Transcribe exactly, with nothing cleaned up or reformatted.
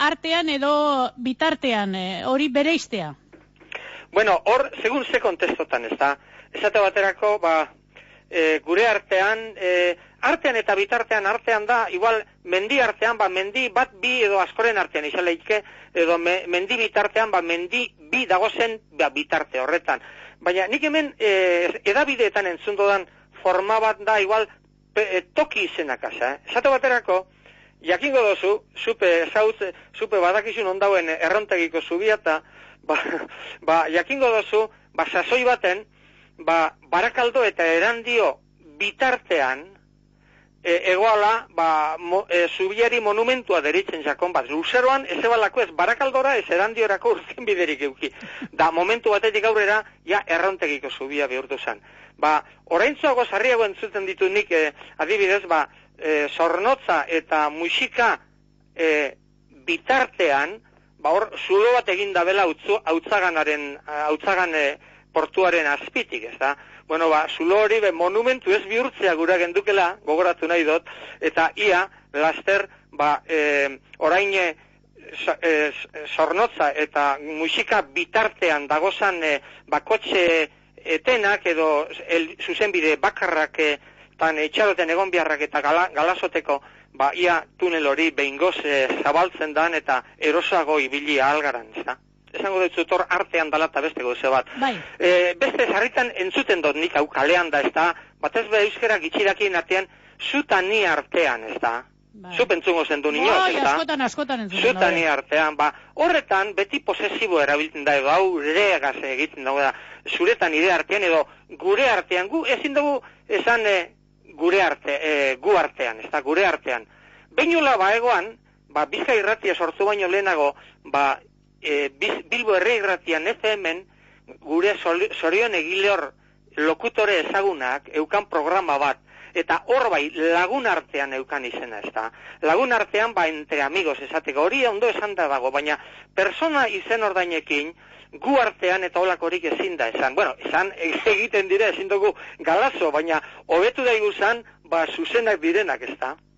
artean edo bitartean, hori bereiztea? Bueno, hor, segun ze kontestotan, ez da, esate baterako, ba, e, gure artean, e, artean eta bitartean artean da, igual, mendi artean, ba, mendi bat bi edo askoren artean, izan leike, edo me, mendi bitartean, ba, mendi bi dagozen ba, bitarte horretan. Baina nik hemen e, edabideetan entzundodan forma bat da, igual, pe, e, toki izenak asa, eh? Esate baterako, jakingo dozu, zupe, zautz, zupe badakizun ondauen errontegiko zubiata, ba, ba, jakingo dozu, ba, sasoi baten, ba, Barakaldo eta Erandio bitartean, e, egoala, ba, mo, e, zubiari monumentua deritzen jakon bat. Luzeroan, ez ebalako ez Barakaldora, ez Erandiorako urtzen biderik euki. Da, momentu batetik aurrera, ja, errontegiko zubia bihurtu zen. Ba, oraintzuago sarriago entzuten ditu nik, e, adibidez, ba, e, Zornotza eta Muxika e, bitartean, ba, hor, zulo bat egin dabela hautzaganaren, hautzagan e, portuaren azpitik, ez da? Bueno, ba, zulo hori be, monumentu ez bihurtzea gura gendukela, gogoratu nahi dut, eta ia, laster, ba, e, orain e, e, Zornotza eta Muxika bitartean dagozan e, bakotxe etenak edo el, zuzenbide bakarrak e, tan etxaroten egon biharrak eta gala, galasoteko, ba, ia tunel hori behingoz e, zabaltzen dan eta erosago ibili ahalgaran, ez da? Esango dut zutor artean dala eta beste goze bat. Bai. E, beste sarritan entzuten dut nik hau kalean da, ez da? Batez be euskera gitxirakien artean, zuta ni artean, ez da? Bai. Zu pentzungo zen du nioz, bai, ez da? askotan, askotan entzuten. Zuta ni artean, ba, horretan beti posesibo erabiltzen da, edo hau reagaz egiten dago da, zuretan nire artean, edo gure artean, gu ezin dugu esan e, gure arte, e, gu artean, ez da, gure artean. Beinula ba egoan, ba, Bizkai irratia sortu baino lehenago, ba, E, Bilbo Herri Irratian F M-en gure Zorion Egileor lokutore ezagunak eukan programa bat, eta hor bai lagun artean eukan izena, ez da? Lagun artean ba entre amigos esateko, hori ondo esan da dago, baina persona izen ordainekin gu artean eta holakorik ezin da esan. Bueno, esan egiten dire ezin dugu galazo, baina hobetu daiguzan ba zuzenak direnak, ez da?